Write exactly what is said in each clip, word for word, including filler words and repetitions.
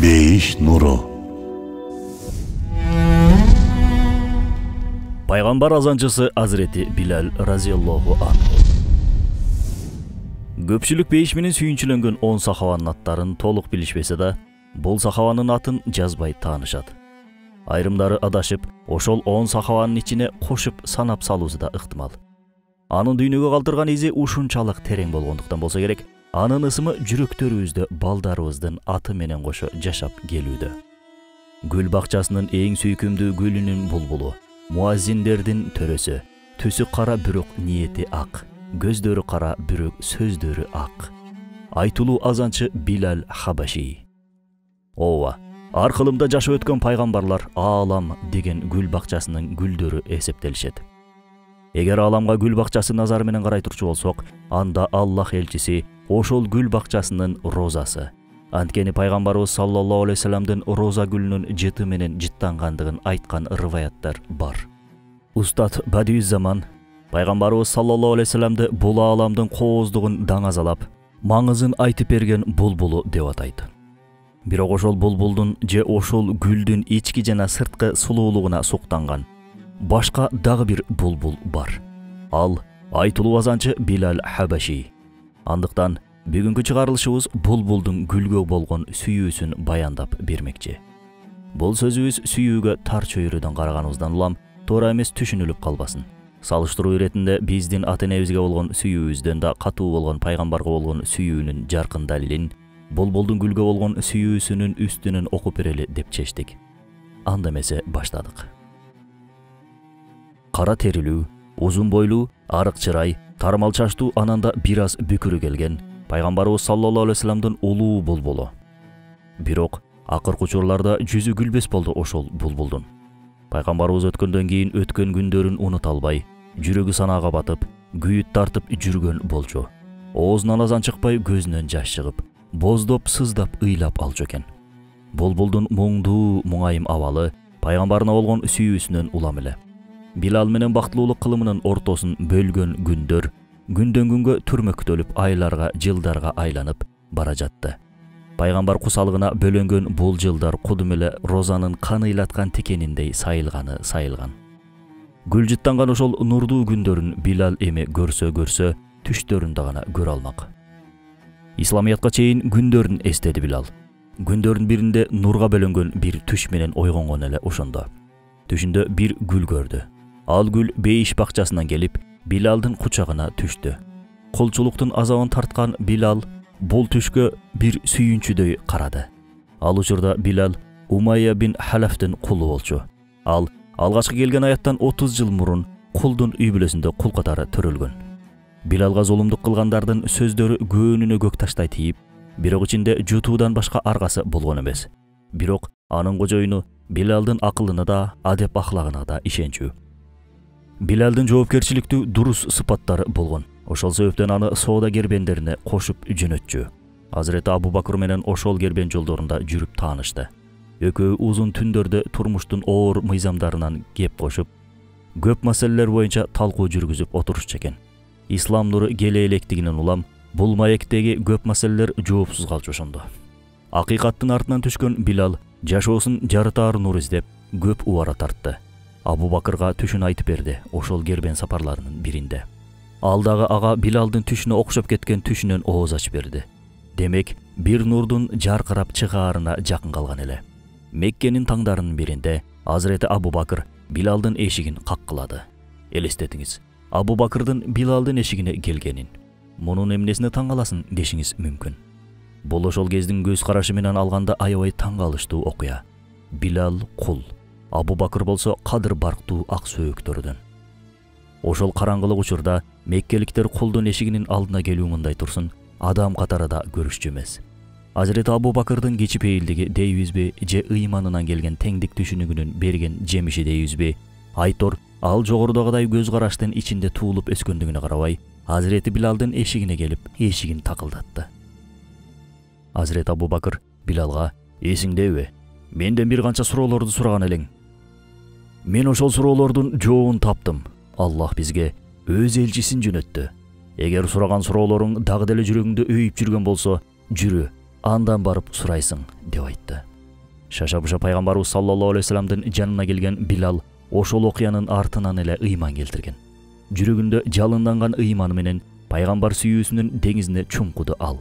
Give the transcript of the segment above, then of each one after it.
Бейиш нуру. Пайгамбар азанчысы Азирети Билал разияллаху анху. Көпчүлүк бейиш менен сүйүнчүлөнгөн он сахабанын аттарын толук билишпесе да, бул сахабанын атын жазбай таанышат. Айрымдары адашып, ошол он сахабанын ичине кошуп санап салуусу да ыктымал. Анын дүйнөгө калтырган изи ушунчалык терең болгондуктан болсо керек, анын ысымы жүрөктөрүбүздө балдарыбыздын аты менен кошо жашап келүүдө. Гүл бакчасынын эң сүйкүмдүү гүлүнүн булбулу, муаззиндердин төрөсү, түсү кара бирок ниети ак, көздөрү кара бирок сөздөрү ак. Айтулуу азанчы Билал Хабаши. Ооба, аркылымда жашап өткөн пайгамбарлар аалам деген гүл бакчасынын гүлдөрү эсептелишет. Эгер ааламга гүл бакчасы назары менен карай турчу болсок, анда Аллах элчиси ошол гүл бакчасынын розасы. Анткени пайгамбарыбыз саллаллаху алейхи вассаламдын роза гүлүнүн жыты менен жыттангандыгын айткан рываяттар бар. Устат Бадиюззаман пайгамбарыбыз саллаллаху алейхи вассаламды бул ааламдын кооздугун даңазалап, маңызын айтып берген булбулу деп атайт. Бирок ошол булбулдун же ошол гүлдүн ички жана сырткы сулуулугуна суктанган башка дагы бир булбул бар. Ал айтулуу азанчы Билал Хабаши. Андыктан бүгүнкү чыгарылышыбыз булбулдун гүлгө болгон сүйүүсүн баяндап бермекчи. Бул сөзүбүз сүйүүгө тар чөйрөдөн караганыбыздан улам туура эмес түшүнүлүп калбасын. Салыштыруу иретинде биздин ата-энебизге болгон сүйүүбүздөн да катуу болгон пайгамбарга болгон сүйүүнүн жаркын далилин булбулдун гүлгө болгон сүйүүсүнүн үстүнөн окуп берели деп чечтик. Анда эмесе баштадык. Кара терилүү, узун бойлуу, арык чырай, тармал чачтуу, ананда бир аз бүкүрү келген пайгамбарыбыз саллаллаху алейхи вассаламдын улуу булбулу. Бирок акыркы учурларда жүзү күлбөс болду ошол булбулдун. Пайгамбарыбыз өткөндөн кийин өткөн күндөрүн унута албай, жүрөгү санаага батып, күйүт тартып жүргөн болчу. Оозунан азан чыкпай, көзүнөн жаш чыгып, боздоп сыздап ыйлап алчу экен. Булбулдун муңдуу, муңайым абалы пайгамбарына болгон сүйүүсүнөн улам эле. Билал менен бактылуулук кылымынын ортосун бөлгөн күндөр күндөн күнгө түрмөктөлүп, айларга, жылдарга айланып бара жатты. Пайгамбар кусалыгына бөлөнгөн бул жылдар кудум эле розанын каныйлаткан тикениндей сайылганы сайылган. Гүл жыттанган ошол нурдуу күндөрүн Билал эми көрсө көрсө, түштөрүндө гана көрө алмак. Исламиятка чейин күндөрүн эстеди Билал. Күндөрдүн биринде нурга бөлөнгөн бир түш менен ойгонгон эле ошондо. Түшүндө бир гүл көрдү. Ал гүл бейиш бакчасынан келип, Билалдын кучагына түштү. Кулчулуктун азабын тарткан Билал бул түшкө бир сүйүнчүдөй карады. Ал учурда Билал Умайя бин Халафтын кулу болчу. Ал алгачкы келген аяттан отуз жыл мурун кулдун үй бүлөсүндө кул катары төрөлгөн. Билалга зулумдук кылгандардын сөздөрү көөнүнө көк таштай тийип, бирок ичинде жутуудан башка аргасы болгон эмес. Бирок анын кожоюну Билалдын акылына да, адеп ахлагына да ишенчү. Билалдын жоопкерчиликтүү, дурус сыпаттары болгон. Ошол себептен аны соода кербендерине кошуп жөнөтчү. Азирети Абу Бакыр менен ошол кербен жолдорунда жүрүп таанышты. Экөө узун түндөрдө турмуштун оор мыйзамдарынан кеп кошуп, көп маселелер боюнча талкуу жүргүзүп отурушчу экен. Ислам нуру келе электигинен улам бул маектеги көп маселелер жоопсуз калчу ошондо. Акыйкаттын артынан түшкөн Билал жашоосун жарытаар нур издеп көп убара тартты. Абу Бакырга түшүн айтып берди ошол кербен сапарларынын биринде. Ал дагы ага Билалдын түшүнө окшоп кеткен түшүнөн ооз ачып берди. Демек, бир нурдун жаркырап чыгаарына жакын калган эле. Меккенин таңдарынын биринде Азирети Абу Бакыр Билалдын эшигин каккылады. Элестетиңиз, Абу Бакырдын Билалдын эшигине келгенин. Мунун эмнесине таң каласың дешиңиз мүмкүн. Бул ошол кездин көз карашы менен алганда аябай таң калыштуу окуя. Билал кул, Абу Бакыр болсо кадыр барктуу ак сөөктөрдөн. Ошол караңгылык учурда меккеликтер кулдун эшигинин алдына келүү мындай турсун, адам катары да көрүшчү эмес. Азирети Абу Бакырдын кичипейилдиги дейбизби же ыйманынан келген теңдик түшүнүгүнүн берген жемиши дейбизби? Айтор, ал жогорудагыдай көз караштын ичинде туулуп өскөндүгүнө карабай, Азирети Билалдын эшигине келип, эшигин такылдатты. Азирети Абу Бакыр Билалга: "Эсиңдеби? Менден бир канча суроолорду сураган элең. Мен ошол суроолордун жообун таптым. Аллах бизге өз элчисин жөнөттү. Эгер сураган суроолоруң дагы деле жүрөгүңдө өйүп жүргөн болсо, жүрү, андан барып сурайсың", деп айтты. Шаша-буша пайгамбарыбыз саллаллаху алейхи вассаламдын жанына келген Билал ошол окуянын артынан эле ыйман келтирген. Жүрөгүндө жалынданган ыйманы менен пайгамбар сүйүүсүнүн деңизине чуңкуду ал.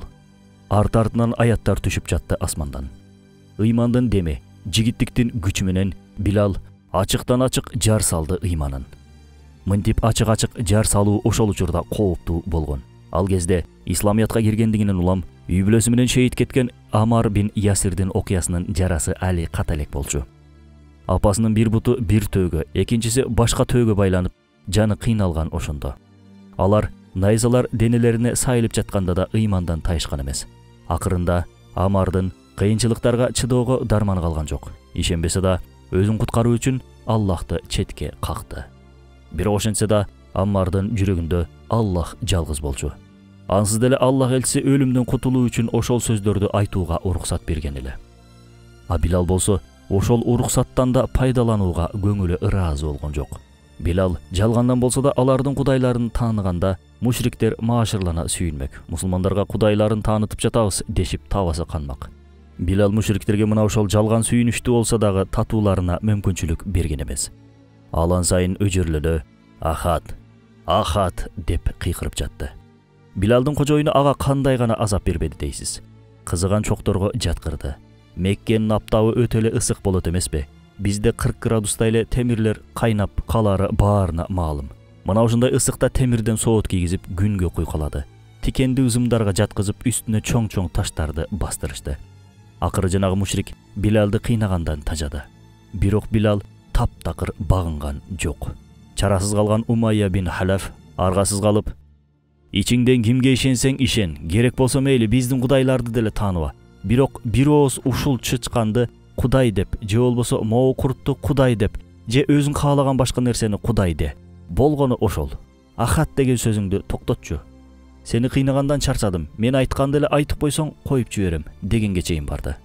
Арт-артынан аяттар түшүп жатты асмандан. Ыймандын деми, жигиттиктин күчү менен Билал ачыктан ачык жар салды ыйманын. Мынтип ачык-ачык жар салуу ошол учурда кооптуу болгон. Ал кезде исламиятка киргендигинен улам үй бүлөсү менен шейит кеткен Амар бин Ясирдин окуясынын жарасы али ката элек болчу. Апасынын бир буту бир төөгө, экинчиси башка төөгө байланып, жаны кыйналган ошондо. Алар найзалар денелерине сайылып жатканда да ыймандан тайышкан эмес. Акырында Амардын кыйынчылыктарга чыдоого дарманы калган жок. Ишенбесе да өзүн куткаруу үчүн Аллахты четке какты. Бирок ошентсе да Аммардын жүрөгүндө Аллах жалгыз болчу. Ансыз деле Аллах элчиси өлүмдөн кутулуу үчүн ошол сөздөрдү айтууга уруксат берген эле. А Билал болсо ошол уруксаттан да пайдаланууга көңүлү ыраазы болгон жок. Билал жалгандан болсо да алардын кудайларын тааныганда мушриктер маашырлана сүйүнмөк. Мусулмандарга кудайларын таанытып жатабыз дешип табасы канмак. Билал мушриктерге мына ошол жалган сүйүнүштүү болсо дагы татууларына мүмкүнчүлүк берген эмес. Алан сайын өжөрлөнө «Ахат, Ахат» деп кыйкырып жатты. Билалдын кожоюну ага кандай гана азап бербеди дейсиз. Кызыган чокторго жаткырды. Меккенин аптабы өтө эле ысык болот эмеспи? Бизде кырк градуста эле темирлер кайнап калары баарына маалым. Мына ушундай ысыкта темирден соот кийгизип күнгө куйкалады. Тикенди ызымдарга жаткызып үстүнө чоң-чоң таштарды бастырышты. Акыры жанагы мушрик Билалды кыйнагандан тажады. Бирок Билал таптакыр багынган жок. Чарасыз калган Умайя бин Халаф аргасыз калып: «Ичиңден кимге ишенсең ишен, керек болсо мейли биздин кудайларды деле тааныба. Бирок бир ооз ушул чычканды Кудай деп, же болбосо могу куртту Кудай деп, же өзүң каалаган башка нерсени Кудай де. Болгону ошол. Ахат деген сөзүңдү токтотчу. Сени кыйнагандан чарчадым. Мен айтканды эле айтып койсоң коюп жиберем» дегенге чейин барды.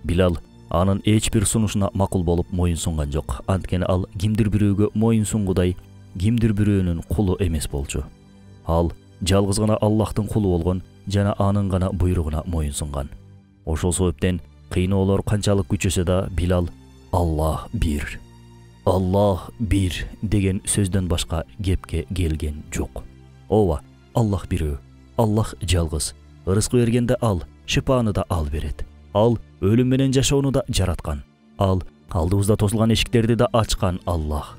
Билал анын эч бир сунушуна макул болуп моюн сунган жок. Анткени ал кимдир бирөөгө моюн сунгудай, кимдир бирөөнүн кулу эмес болчу. Ал жалгыз гана Аллахтын кулу болгон жана анын гана буйругуна моюн сунган. Ошол себептен кыйноолор канчалык күчөсө да Билал «Аллах бир, Аллах бир» деген сөздөн башка кепке келген жок. Ооба, Аллах бирөө, Аллах жалгыз. Ырыскы бергенде ал, шипаны да ал берет. Ал өлүм менен жашоону да жараткан. Ал алдыбызда тосулган эшиктерди да ачкан Аллах.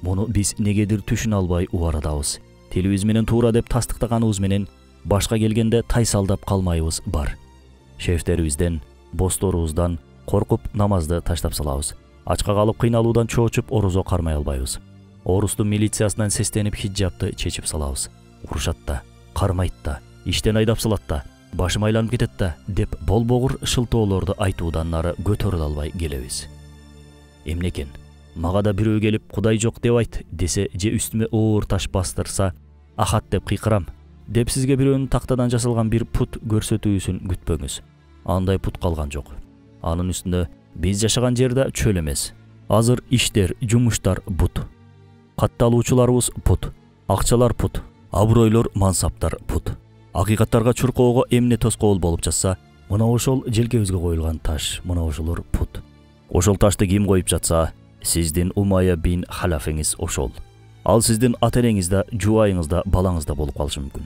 Муну биз негедир түшүнө албай убарадабыз. Телибиз менен туура деп тастыктаганыбыз менен башка келгенде тайсалдап калмайбыз бар. Шефтерибизден, босторубуздан коркуп намазды таштап салабыз. Ачка калып кыйналуудан чоочуп орозо кармай албайбыз. Орустун милициясынан сестенип хиджабты чечип салабыз. Урушат да, кармайт да, иштен айдап салат да, башым айланып кетет да деп болбогур шылтоолорду айтуудан нары көтөрүлө албай келебиз. Эмне экен? Мага да бирөө келип Кудай жок деп айт десе же үстүмө оор таш бастырса Ахат деп кыйкырам деп сизге бирөөнүн тактадан жасалган бир пут көрсөтүүсүн күтпөңүз. Андай пут калган жок. Анын үстүндө биз жашаган жер да чөл эмес. Азыр иштер, жумуштар бут. Катталуучуларыбыз пут, акчалар пут, абройлор, мансаптар пут. Акыйкаттарга чуркоого эмне тоскоол болуп жатса, мына ошол желкебизге коюлган таш, мына ошолор пут. Ошол ташты ким коюп жатса, сиздин Умайя бин Халафеңиз ошол. Ал сиздин ата-энеңиз да, жубайыңыз да, балаңыз да болуп калышы мүмкүн.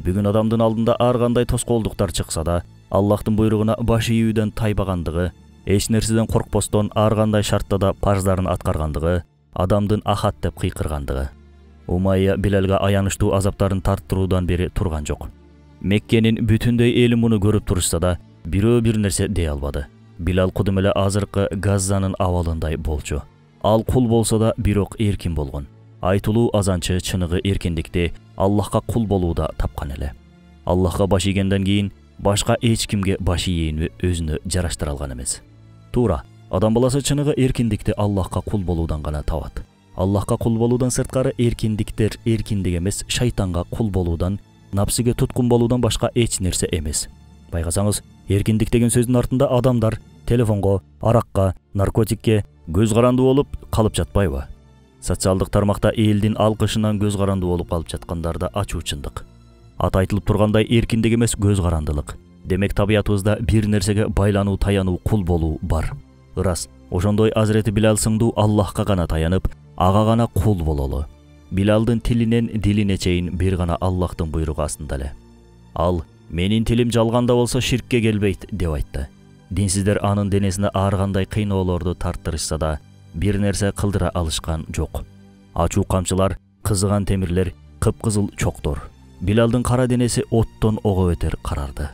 Бүгүн адамдын алдында ар кандай тоскоолдуктар чыкса да, Аллахтын буйругуна баш ийүүдөн тайбагандыгы, эч нерседен коркпостон ар кандай шартта да парздарын аткаргандыгы, адамдын Ахат деп кыйкыргандыгы. Умайя Билалга аянычтуу азаптарын тарттыруудан бери турган жок. Меккенин бүтүндөй эли муну көрүп турушса да, бирөө бир нерсе дей албады. Билал кудум эле азыркы Газзанын абалындай болчу. Ал кул болсо да бирок эркин болгон. Айтылуу азанчы чыныгы эркиндикти Аллахка кул болууда тапкан эле. Аллахка баш ийгенден кийин башка эч кимге баш ийүүнү өзүнө жараштыра алган эмес. Туура, адам баласы чыныгы эркиндикти Аллахка кул болуудан гана табат. Аллахка кул болуудан сырткары эркиндиктер эркиндик эмес, шайтанга кул болуудан, напсиге туткун болуудан башка эч нерсе эмес. Байкасаңыз, эркиндик деген сөздүн артында адамдар телефонго, аракка, наркотикке көз карандуу болуп калып жатпайбы? Социалдык тармакта элдин алкышынан көз карандуу болуп калып жаткандар да ачуу чындык. Ат айтылып тургандай эркиндик эмес, көз карандылык. Демек табиятыбызда бир нерсеге байлануу, таянуу, кул болуу бар. ырас ошондой Азирети Билал сыңдуу Аллахка гана таянып, ага гана кул бололу. Билалдын тилинен дилине чейин бир гана Аллахтын буйругу астында эле. Ал менин тилим жалганда болсо ширкке келбейт деп айтты. Динсиздер анын денесине ар кандай кыйноолорду тарттырышса да бир нерсе кылдыра алышкан жок. Ачуу камчылар, кызыган темирлер, кыпкызыл чоктор. Билалдын кара денеси оттон ого өтер карарды.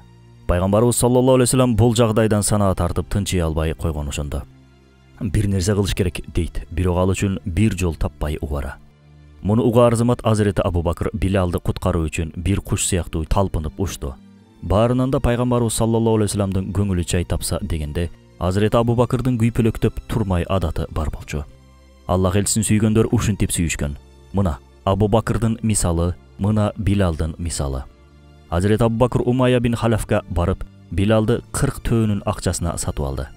Пайгамбарыбыз саллаллаху алейхи вассалам бул жагдайдан санаа тартып тынчый албай койгон ошондо. Бир нерсе кылыш керек дейт, бирок ал үчүн бир жол таппай угара. Муну угаар замат Азирети Абу Бакыр Билалды куткаруу үчүн бир куш сыяктуу талпынып учту. Баарынан да пайгамбарыбыз саллаллаху алейхи вассаламдын көңүлү жай тапса дегенде, Азирети Абу Бакырдын күйпөлөктөп турмай адаты бар болчу. Аллах элчисин сүйгөндөр ушинтип сүйүшкөн. Мына Абу Бакырдын мисалы, мына Билалдын мисалы. Азирети Абу Бакыр Умайя бин Халафка барып, Билалды кырк төөнүн акчасына сатып алды.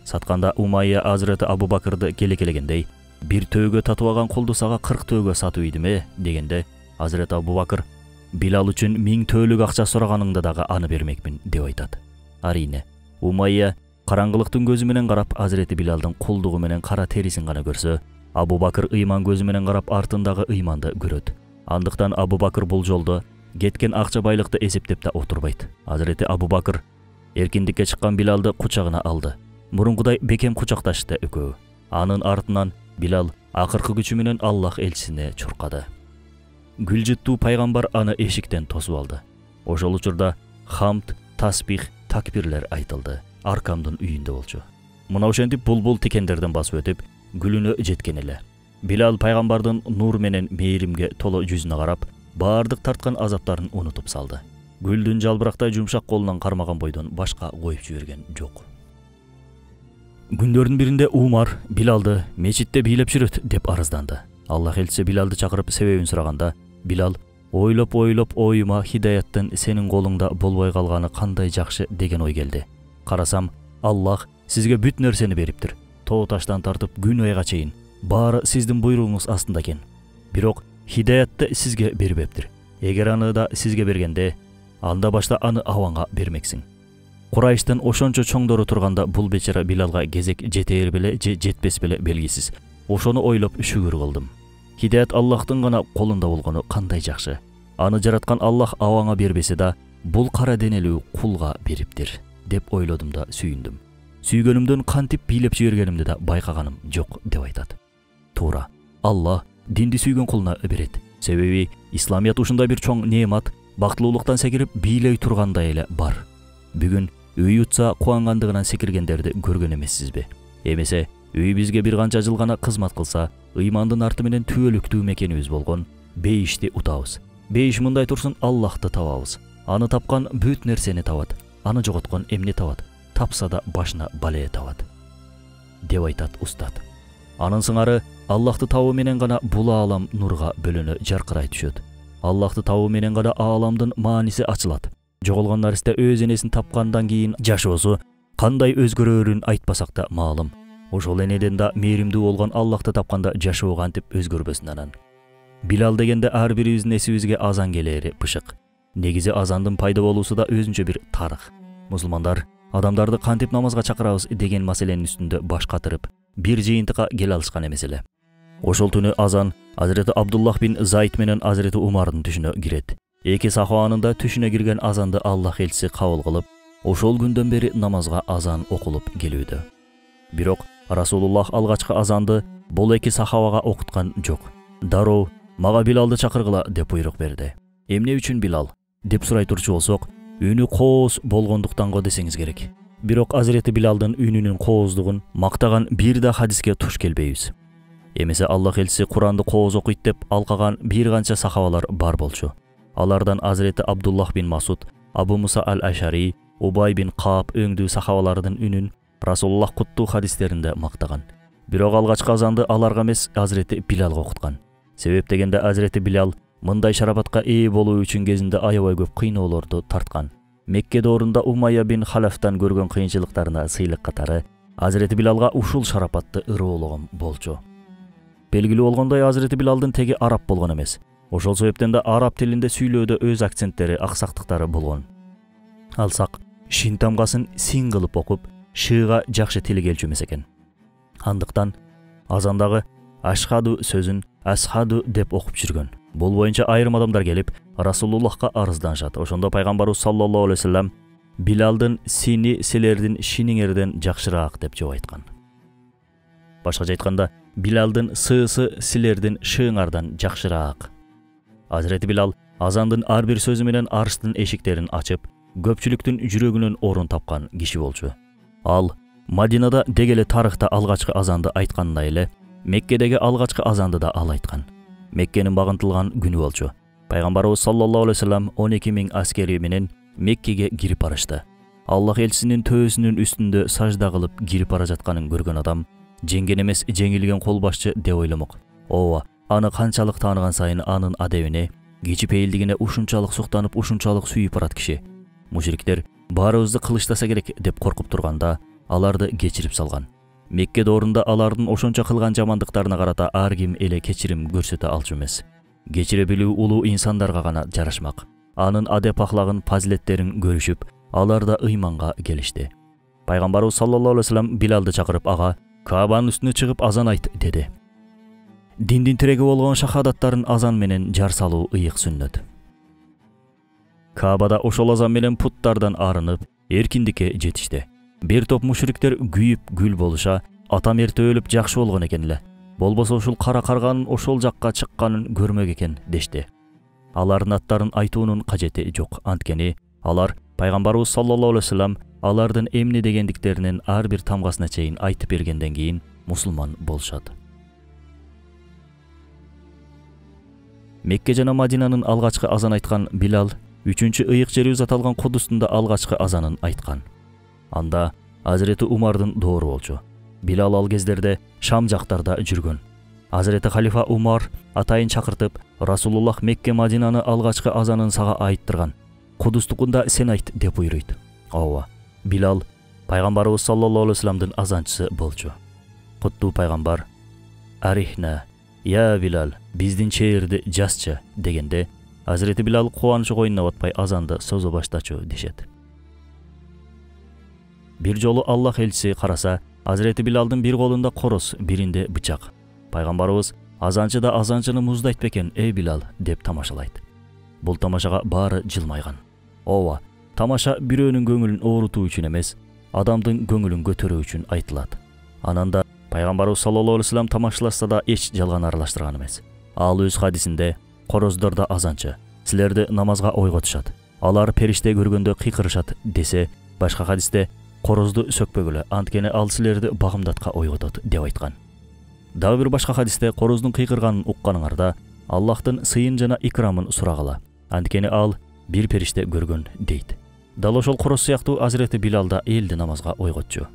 Сатканда Умайя Азирети Абу Бакырды келе-келегендей, бир төөгө татыбаган кулду сага кырк төөгө сатып ийдиме дегенде, Азирети Абу Бакыр Билал үчүн миң төөлүк акча сураганыңда дагы аны бермекмин деп айтат. Арине, Умайя караңгылыктын көзү менен карап Азирети Билалдын кулдугу менен кара терисин гана көрсө, Абу Бакыр ыйман көзү менен карап артындагы ыйманды көрөт. Андыктан Абу Бакыр бул жолдо кеткен акча байлыкты эсептеп да отурбайт. Азирети Абу Бакыр эркиндикке чыккан Билалды кучагына алды. Мурункудай бекем кучакташты экөө. Анын артынан Билал акыркы күчү менен Аллах элчисине чуркады. Гүл жыттуу пайгамбар аны эшиктен тосуп алды. Ошол учурда хамд, тасбих, такбирлер айтылды. Аркамдын үйүндө болчу. Мына ошентип булбул тикендерден басып өтүп, гүлүнө жеткен эле. Билал пайгамбардын нур менен мээримге толо жүзүнө карап, баардык тарткан азаптарын унутуп салды. Гүлдүн жалбырактай жумшак колунан кармаган бойдон башка коюп жиберген жок. Күндөрдүн биринде Умар Билалды мечитте бийлеп жүрөт деп арызданды. Аллах элчиси Билалды чакырып себебин сураганда, Билал ойлоп-ойлоп оюма хидаяттын сенин колуңда болбой калганы кандай жакшы деген ой келди. Карасам, Аллах сизге бүт нерсени бериптир. Тоо таштан тартып күн айга чейин баары сиздин буйругуңуз астында экен. Бирок хидаятты сизге бербептир. Эгер аны да сизге бергенде, анда башта аны аванга бермексиң. Курайштын ошончо чоңдору турганда бул бечара Билалга кезек жетээр беле же жетпес беле белгисиз. Ошону ойлоп шүгүр кылдым. Хидаят Аллахтын гана колунда болгону кандай жакшы. Аны жараткан Аллах аваңа бербесе да, бул кара денелүү кулга бериптир деп ойлодум да сүйүндүм. Сүйгөнүмдөн кантип бийлеп жибергенимди да байкаганым жок деп айтат. Туура, Аллах динди сүйгөн кулуна берет. Себеби исламият ушундай бир чоң неемат, бактылуулуктан секирип бийлей тургандай эле бар. Бүгүн үй утса кубангандыгынан секиргендерди көргөн эмессизби? Эмесе үй бизге бир канча жыл гана кызмат кылса, ыймандын арты менен түбөлүктүү мекенибиз болгон бейишти утабыз. Бейиш мындай турсун, Аллахты табабыз. Аны тапкан бүт нерсени табат. Аны жоготкон эмне табат? Тапса да башына бале табат деп айтат устат. Анын сыңары Аллахты табуу менен гана бул аалам нурга бөлөнө жаркырай түшөт. Аллахты табуу менен гана ааламдын мааниси ачылат. Жоголгон наристе өз энесин тапкандан кийин жашоосу кандай өзгөрөөрүн айтпасак да маалым. Ошол энеден да мээримдүү болгон Аллахты тапканда жашоо кантип өзгөрбөсүн анан. Билал дегенде ар бирибиздин эсибизге азан келери бышык. Негизи азандын пайда болуусу да өзүнчө бир тарых. Мусулмандар адамдарды кантип намазга чакырабыз деген маселенин үстүндө баш катырып, бир жыйынтыкка келе алышкан эмес эле. Ошол түнү азан Азирети Абдуллах бин Зайд менен Азирети Умардын түшүнө кирет. Эки сахабанын да түшүнө кирген азанды Аллах элчиси кабыл кылып, ошол күндөн бери намазга азан окулуп келүүдө. Бирок Расулуллах алгачкы азанды бул эки сахабага окуткан жок. Дароо мага Билалды чакыргыла деп буйрук берди. Эмне үчүн Билал деп сурай турчу болсок, үнү кооз болгондуктан го десеңиз керек. Бирок Азирети Билалдын үнүнүн кооздугун мактаган бир да хадиске туш келбейбиз. Эмесе Аллах элчиси Куранды кооз окуйт деп алкаган бир канча сахабалар бар болчу. Алардан Азирети Абдуллах бин Масуд, Абу Муса аль-Ашари, Убай бин Кааб өңдүү сахабалардын үнүн Расулуллах куттуу хадистеринде мактаган. Бирок алгачкы азанды аларга эмес, Азирети Билалга окуткан. Себеп дегенде Азирети Билал мындай шарапатка ээ болуу үчүн кезинде аябай көп кыйноолорду тарткан. Мекке доорунда Умайя бин Халафтан көргөн кыйынчылыктарына сыйлык катары Азирети Билалга ушул шарапатты ырыоологон болчу. Белгилүү болгондой, Азирети Билалдын теги араб болгон эмес. Ошол себептен да араб тилинде сүйлөөдө өз акценттери, аксактыктары болгон. Алсак, шин тамгасын син кылып окуп, шыыга жакшы тили келчү эмес экен. Андыктан азандагы ашхаду сөзүн асхаду деп окуп жүргөн. Бул боюнча айрым адамдар келип Расулуллахка арызданышат. Ошондо пайгамбарыбыз саллаллаху алейхи вассалам Билалдын сини силердин шиниңерден жакшыраак деп жооп айткан. Башкача айтканда, Билалдын сыысы силердин шыыңардан жакшыраак. Азирети Билал азандын ар бир сөзү менен арыштын эшиктерин ачып, көпчүлүктүн жүрөгүнөн орун тапкан киши болчу. Ал Мадинада дегеле тарыхта алгачкы азанды айткандай эле, Меккедеги алгачкы азанды да ал айткан. Меккенин багынтылган күнү болчу. Пайгамбарыбыз саллаллаху алейхи вассалам он эки миң аскери менен Меккеге кирип барышты. Аллах элчисинин төбөсүнүн үстүндө сажда кылып кирип бара жатканын көргөн адам жеңген эмес, жеңилген кол башчы деп ойломок. Ооба, аны канчалык тааныган сайын анын адебине, кичипейилдигине ушунчалык суктанып, ушунчалык сүйүп барат киши. Мушриктер баарыбызды кылычтаса керек деп коркуп турганда, аларды кечирип салган. Мекке доорунда алардын ошончо кылган жамандыктарына карата ар ким эле кечирим көрсөтө алчу эмес. Кечире билүү улуу инсандарга гана жарашмак. Анын адеп ахлагын, фазилеттерин көрүшүп, алар да ыйманга келишти. Пайгамбарыбыз саллаллаху алейхи вассалам Билалды чакырып, ага Каабанын үстүнө чыгып азан айт деди. Диндин тиреги болгон шахадаттарын азан менен жар салуу ыйык сүннөт. Каабада ошол азан менен путтардан арынып, эркиндикке жетишти. Бир топ мушриктер күйүп гүл болуша, атам эрте өлүп жакшы болгон экен эле. Болбосо ушул кара карганын ошол жакка чыкканын көрмөк экен дешти. Алардын аттарын айтуунун кажети жок. Анткени алар пайгамбарыбыз саллаллаху алейхи вассалам алардын эмне дегендиктеринин ар бир тамгасына чейин айтып бергенден кийин мусулман болушат. Мекке жана Мадинанын алгачкы азан айткан Билал үчүнчү ыйык жерибиз аталган Кудустун да алгачкы азанын айткан. Анда Азирети Умардын доору болчу. Билал ал кездерде Шам жактарда жүргөн. Азирети халифа Умар атайын чакыртып, Расулуллах Мекке Мадинаны алгачкы азанын сага айттырган. Кудустукунда сен айт деп буйруйт. Ооба, Билал пайгамбарыбыз саллаллаху алейхи вассаламдын азанчысы болчу. Куттуу пайгамбар Арихна, я Билал, биздин чээрди жасчы дегенде, Азирети Билал кубанычы койнуна батпай азанды созо баштачу дешет. Бир жолу Аллах элчиси караса, Азирети Билалдын бир колунда короз, биринде бычак. Пайгамбарыбыз азанчы да азанчыны муздайт бекен, эй Билал деп тамашалайт. Бул тамашага баары жылмайган. Ооба, тамаша бирөөнүн көңүлүн оорутуу үчүн эмес, адамдын көңүлүн көтөрүү үчүн айтылат. Ананда пайгамбарыбыз саллаллаху алейхи вассалам тамашалашса да эч жалган аралаштырган эмес. Ал өз хадисинде короздөр да азанчы, силерди намазга ойготушат. Алар периште көргөндө кыйкырышат десе, башка хадисте корозду сөкпөгүлө, анткени ал силерди багымдатка ойготот деп айткан. Дагы бир башка хадисте короздун кыйкырганын укканыңарда Аллахтын сыйын жана икрамын сурагыла, анткени ал бир периште көргөн дейт. Дал ошол короз сыяктуу Азирети Билал да элди намазга ойготчу.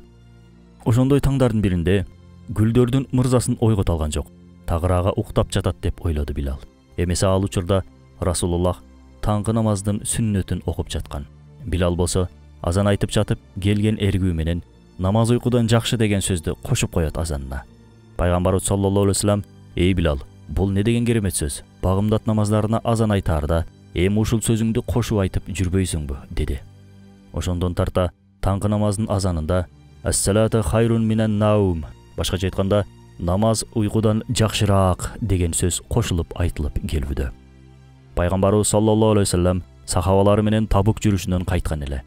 Ошондой таңдардын биринде гүлдөрдүн мырзасын ойгото алган жок. Тагырага уктап жатат деп ойлоду Билал. Эмесе ал учурда Расулуллах таңкы намаздын сүннөтүн окуп жаткан. Билал болсо азан айтып жатып, келген эргүү менен намаз уйкудан жакшы деген сөздү кошуп коет азанына. Пайгамбарыбыз саллаллаху алейхи вассалам, эй Билал, бул не деген керемет сөз? Багымдат намаздарына азан айтаарда эми ушул сөзүңдү кошуп айтып жүрбөйсүңбү деди. Ошондон тарта таңкы намаздын азанында Ас-салату хайрун минан наум, башкача айтканда намаз уйкудан жакшыраак деген сөз кошулуп айтылып келүүдө. Пайгамбарыбыз саллаллаху алейхи вассалам сахабалары менен Табук жүрүшүнөн кайткан эле.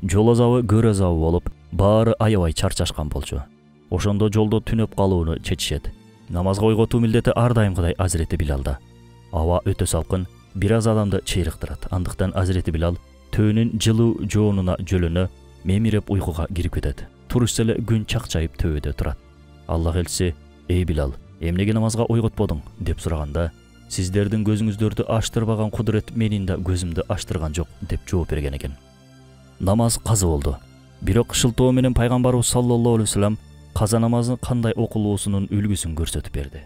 Жол азабы көр азабы болуп, баары аябай чарчашкан болчу. Ошондо жолдо түнөп калууну чечишет. Намазга ойготуу милдети ар дайымкыдай Азирети Билалда. Аба өтө салкын, бир аз адамды чыйрыктырат. Андыктан Азирети Билал төөнүн жылуу жоонуна жөлөнө мемиреп уйкуга кирип кетет. Турушса эле күн чакчайып төбөдө турат. Аллах элчиси, эй Билал, эмнеге намазга ойготподуң деп сураганда, сиздердин көзүңүздөрдү аштырбаган кудурет менин да көзүмдү аштырган жок деп жооп берген экен. Намаз казы болду. Бирок шылтоо менен пайгамбарыбыз саллаллаху алейхи вассалам каза намазы кандай окулуусунун үлгүсүн көрсөтүп берди.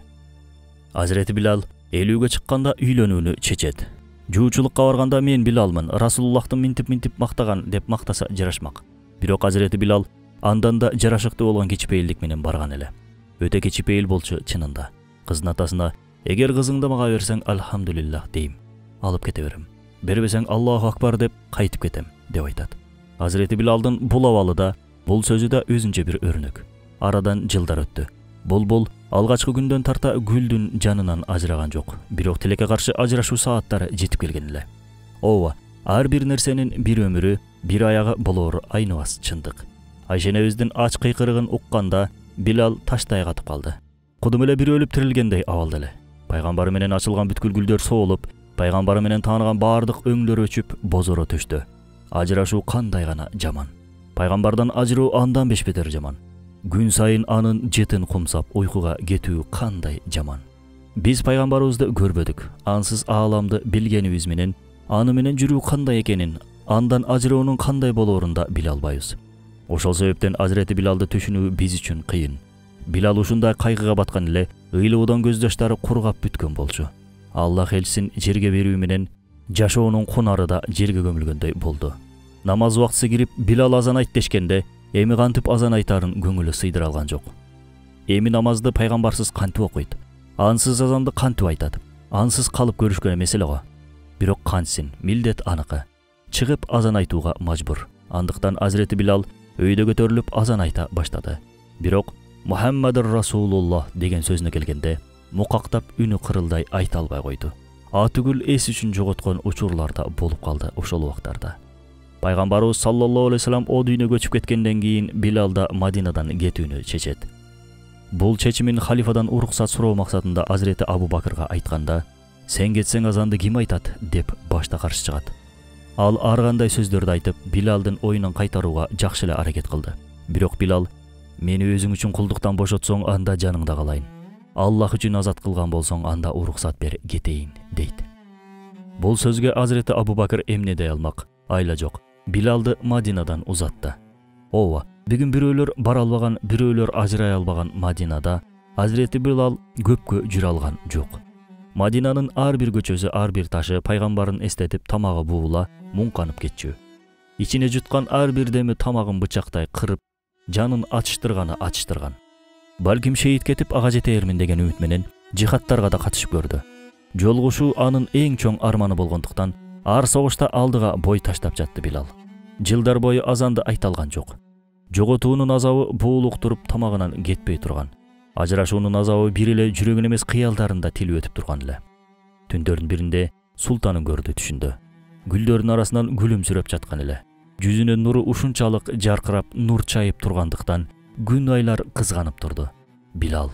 Азирети Билал элүүгө чыкканда үйлөнүүнү чечет. Жуучулукка барганда мен Билалмын, Расулуллахтын минтип-минтип мактаган деп мактаса жарашмак. Бирок Азирети Билал андан да жарашыктуу болгон кичипейилдик менен барган эле. Өтө кичипейил болчу чынында. Кыздын атасына, эгер кызыңды мага берсең, алхамдулиллах дейм, алып кете берем. Бербесең, Аллаху акбар деп кайтып кетем деп айтат. Азирети Билалдын бул абалыда Бул сөзү да өзүнчө бир өрнөк. Арадан жылдар өттү. Булбул алгачкы күндөн тарта Гүлдүн жанынан ажыраган жок. Бирок тилекке каршы ажырашуу сааттары жетип келген эле. Ооба, ар бир нерсенин бир өмүрү, бир аягы болоор айныбас чындык. Айшенебиздин ач кыйкырыгын укканда Билал таштай катып калды. Кудум эле бир өлүп тирилгендей абалда эле. Пайгамбары менен ачылган бүткүл гүлдөр соолуп, пайгамбары менен тааныган баардык өңдөр өчүп, бозоро төштү. Ажырашуу кандай гана жаман. Пайгамбардан ажыроо андан бешбетер жаман. Күн сайын анын жетин кумсап уйкуга кетүү кандай жаман. Биз пайгамбарыбызды көрбөдүк. Ансыз ааламды билгенибиз менен, аны менен жүрүү кандай экенин, андан ажыроонун кандай болоорун да биле албайбыз. Ошол себептен Азирети Билалды түшүнүү биз үчүн кыйын. Билал ушундай кайгыга баткан эле ыйлоодан көз жаштары кургап бүткөн болчу. Аллах элчисин жерге берүү менен жашоонун кунары да жерге көмүлгөндөй болду. Намаз убактысы кирип, Билал азан айт дешкенде, эми кантип азан айтарын көңүлү сыйдыра алган жок. Эми намазды пайгамбарсыз кантип окуйт? Ансыз азанды кантип айтат? Ансыз калып көрүшкөн эмес эле го. Бирок кантсин, милдет аныкы. Чыгып азан айтууга мажбур. Андыктан Азирети Билал өйдө көтөрүлүп азан айта баштады. Бирок Мухаммадур Расулуллах деген сөзүнө келгенде, мукактап үнү кырылдай айта албай койду. Атүгүл эс үчүн жоготкон учурларда болуп калды ошол убактарда. Пайгамбарыбыз саллаллаху алейхи вассалам о дүйнө көчүп кеткенден кийин Билал да Мадинадан кетүүнү чечет. Бул чечимин халифадан уруксат суроо максатында Азирети Абу Бакырга айтканда, "Сен кетсең азанды ким айтат?" деп башта каршы чыгат. Ал ар кандай сөздөрдү айтып, Билалдын оюнун кайтарууга жакшы эле аракет кылды. Бирок Билал: "Мени өзүң үчүн кулдуктан бошотсоң, анда жаныңда калайын. Аллах үчүн азат кылган болсоң, анда уруксат бер, кетейин" дейт. Бул сөзгө Азирети Абу Бакыр эмне дей алмак? Айла жок. Билалды Мадинадан узатты. Ооба, бүгүн бирөөлөр бара албаган, бирөөлөр ажырай албаган Мадинада Азирети Билал көпкө жүрө алган жок. Мадинанын ар бир көчөсү, ар бир ташы пайгамбарын эстетип, тамагы буула, муңканып кетчү. Ичине жуткан ар бир деми тамагын бычактай кырып, жанын ачыштырганы ачыштырган. Балким шейит кетип ага жетээрмин деген үмүт менен жихадтарга да катышып көрдү. Жолугушуу анын эң чоң арманы болгондуктан ар согушта алдыга бой таштап жатты Билал. Жылдар бою азанды айта алган жок. Жоготуунун азабы буулук туруп тамагынан кетпей турган. Ажырашуунун азабы бир эле жүрөгүн эмес кыялдарында тил өтүп турган эле. Түндөрдүн биринде султанын көрдү түшүндө. Гүлдөрдүн арасынан күлүмсүрөп жаткан эле. Жүзүнүн нуру ушунчалык жаркырап, нур чайып тургандыктан күн айлар кызганып турду. "Билал,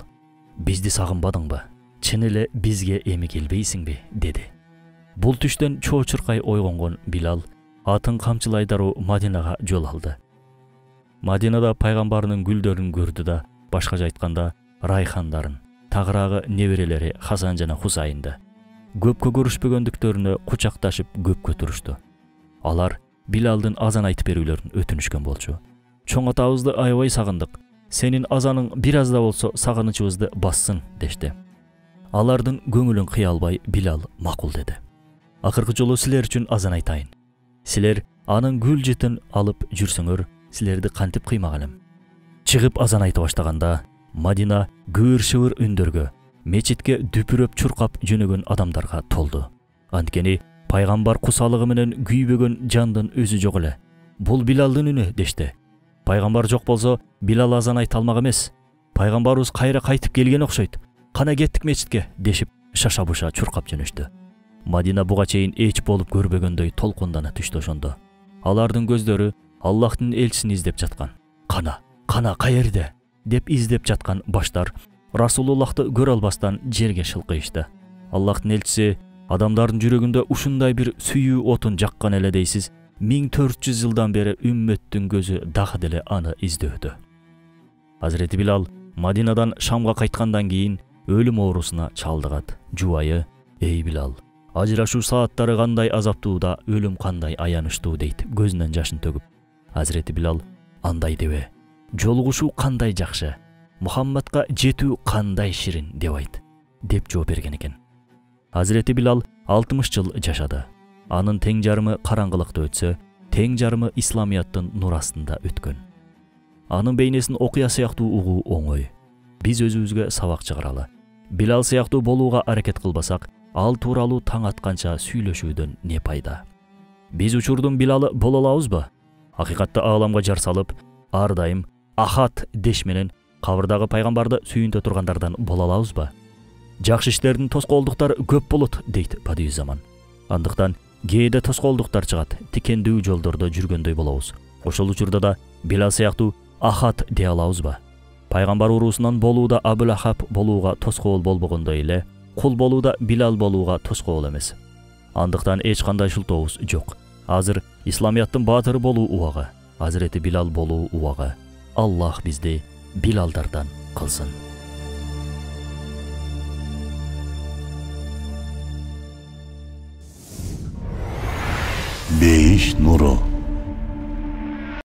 бизди сагынбадыңбы? Чын эле бизге эми келбейсиңби?" деди. Бул түштөн чоочуркай ойгонгон Билал атын камчылай дароо Мадинага жол алды. Мадинада пайгамбарынын гүлдөрүн көрдү да, башкача айтканда, райхандарын, тагыраагы неберелери Хасан жана Хусайынды. Көпкө көрүшпөгөндүктөрүнө кучакташып көпкө турушту. Алар Билалдын азан айтып берүүлөрүн өтүнүшкөн болчу. "Чоң атабызды аябай сагындык. Сенин азаның бир аз да болсо сагынычыбызды бассын" дешти. Алардын көңүлүн кыя албай Билал макул деди. "Акыркы жолу силер үчүн азан айтайын. Силер анын гүл жытын алып жүрсөңөр, силерди кантип кыймагалым?" Чыгып азан айта баштаганда, Мадина кыбыр-шыбыр үндөргө, мечитке дүпүрөп чуркап жөнөгөн адамдарга толду. Анткени пайгамбар кусалыгы менен күйбөгөн жандын өзү жок эле. "Бул Билалдын үнү" дешти. "Пайгамбар жок болсо, Билал азан айта алмак эмес. Пайгамбарыбыз кайра кайтып келген окшойт. Кана кеттик мечитке" дешип, шаша-буша чуркап жөнөштү. Мадина буга чейин эч болуп көрбөгөндөй толкундана түштү ошондо. Алардын көздөрү Аллахтын элчисин издеп жаткан. "Кана, кана каерде?" деп издеп жаткан баштар Расулуллахты көрө албастан жерге шылкыйышты. Аллахтын элчиси адамдардын жүрөгүндө ушундай бир сүйүү отун жаккан эле дейсиз, миң төрт жүз жылдан бери үммөттүн көзү дагы деле аны издөдү. Азирети Билал Мадинадан Шамга кайткандан кийин өлүм оорусуна чалдыгат. Жубайы: "Эй Билал, ажырашуу сааттары кандай азаптуу да, өлүм кандай аянычтуу" дейт, көзүнөн жашын төгүп. Азирети Билал: "Андай дебе. Жолугушуу кандай жакшы, Мухаммадка жетүү кандай ширин" деп айт, деп жооп берген экен. Азирети Билал алтымыш жыл жашады. Анын тең жарымы караңгылыкта өтсө, тең жарымы исламияттын нур астында өткөн. Анын бейнесин окуя сыяктуу угуу оңой. Биз өзүбүзгө сабак чыгаралы. Билал сыяктуу болууга аракет кылбасак, ал тууралуу таң атканча сүйлөшүүдөн не пайда? Биз учурдун Билалы боло алабызбы? Акыйкатта ааламга жар салып, ар дайым ахат деш менен кабырдагы пайгамбарды сүйүнтө тургандардан боло алабызбы? Жакшы иштердин тоскоолдуктары көп болот дейт Падиюззаман. Андыктан кээде тоскоолдуктар чыгат, тикендүү жолдордо жүргөндөй болобуз. Ошол учурда да Билал сыяктуу ахат дей алабызбы? Пайгамбар уруусунан болууда Абул Ахаб болууга тоскоол болбогондой эле, кул болууда Билал болууга тоскоол эмес. Андыктан эч кандай шылтообуз жок. Азыр исламияттын баатыры болуу убагы, Азирети Билал болуу убагы. Аллах бизди Билалдардан кылсын. Бейиш нуру.